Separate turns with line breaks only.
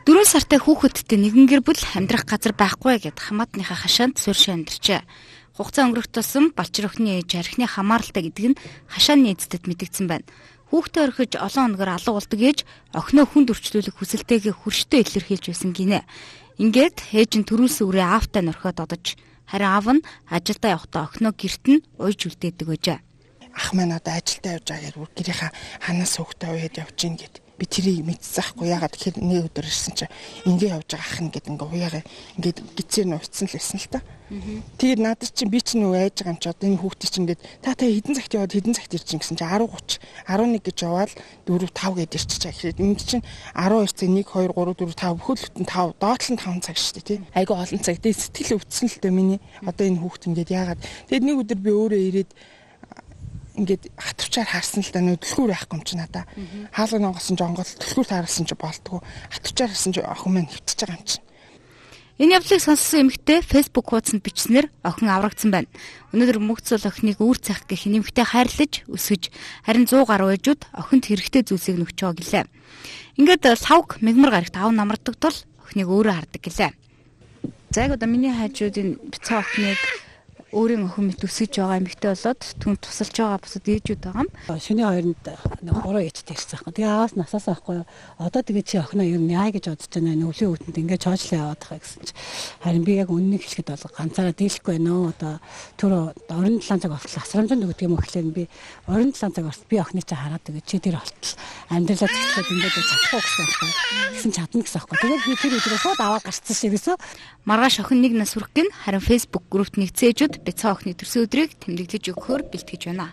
4 сартай хүүхэдтэй нэгэн гэр бүл амьдрах газар байхгүй гэд хамаатныхаа хашаанд суурьшин амьдарчээ. Хугацаа өнгөрөх тусам балчир охины ээж архины хамааралтай гэдэг нь хашааны эцэдэд мэдэгдсэн байна. Хүүхдээ орхиж олон хоногор алга болдог ээж охиноо хүнд өрчлүүлэх хүсэлтэйгээ хүрштэй илэрхийлж байсан гинэ. Ингээд ээж нь төрүүлсэн үрээ аавтай нөрхөд одож харин аав нь ажилдаа явахдаа охиноо гэрт нь уйж үлдээдэг байжээ.
Ах маань одоо ажилдаа явж байгаа гэхээр гэрийнхаа ханаас хүүхдээ уяад явж гин гэд. Би тэрийг мэдсэхгүй ягаад тэгэхээр нэг өдөр ирсэн чинь ингээ явж байгаа ах нь гэд ингээ уяагаа ингээд гизээр нь уйцсан л байсан л та. Тэгээд надад чинь би чинь нөгөө айж байгаа юм чи одоо энэ хүүхдээ чинь ингээд та хэдэн цагт яваад хэдэн цагт ирчин гэсэн чинь 10:30 11 гэж яваад 4 5 гээд ирчих чаа гэхэд энэ чинь 12 цаг 1 2 3 4 5 бүхэл бүтэн 5 доотлол нь 5 цаг шүү дээ тий. Айгу олон цаг. Тэгээд сэтгэл өвдсөн л дээ миний одоо энэ хүүхд ингээд яагаад тэгээд нэг өдөр би өөрөө ирээд ингээд хатвчаар харсан л да нөдлөхүүр байхгүй юм чи надаа. Хаалганы онгосон жонгол төлхүүр таарсан чи болтгоо. Хатвчаар харсан чи охин маань хөвтөж байгаа юм чи.
Энэ явдлыг сонссон эмэгтэй Facebook хуудсанд бичснээр охин аврагдсан байна. Өнөөдөр мөгцөл охиныг үүр цах гэх нэмэгтэй хайрлаж өсгөж харин 100 гаруй ээжүүд охинд хэрэгтэй зүйлсийг нөгч байгаа гэлээ. Ингээд лавг мэгмар гарагт аав намардаг тул охиныг өөрөө хардаг гэлээ. За яг одоо миний хайжуудын бицаа охиныг өөрийн охин мэт өсөж байгаа эмэгтэй болоод түн тусалж байгаа бусад ээжүүд байгаа юм.
Шөнийн 2-нд 3 ээжтэй ирсэн байхгүй. Тэгээ ааваас насаас авахгүй. Одоо тэгээ чи охиноо ер нь яа гэж бодож байна вэ? Өвлийн өвдөнд ингээд чойжлоо яваад байгаа гэсэн чи. Харин би яг үннийг хэлэхэд бол ганцаараа дийлэхгүй байна уу? Одоо түр орон 7 цаг болтол асрамжинд өгдөг юм гэхлээр би орон 7 цаг болтол би охины чи хараад тэгээ чи тэр болтол амьдралаа зэцлээд ингээд чадахгүй гэсэн байхгүй. Гэсэн чадна гэсэн байхгүй. Тэгээд би тэр өдрөө шууд аваад гарцсан шивээсөө
маргааш охин нэг нас хүрэх гин харин Facebook группт нэгдсэн ээжүүд бицаа охины төрсөн өдрийг тэмдэглэж өгөхөөр бэлтгэж байна.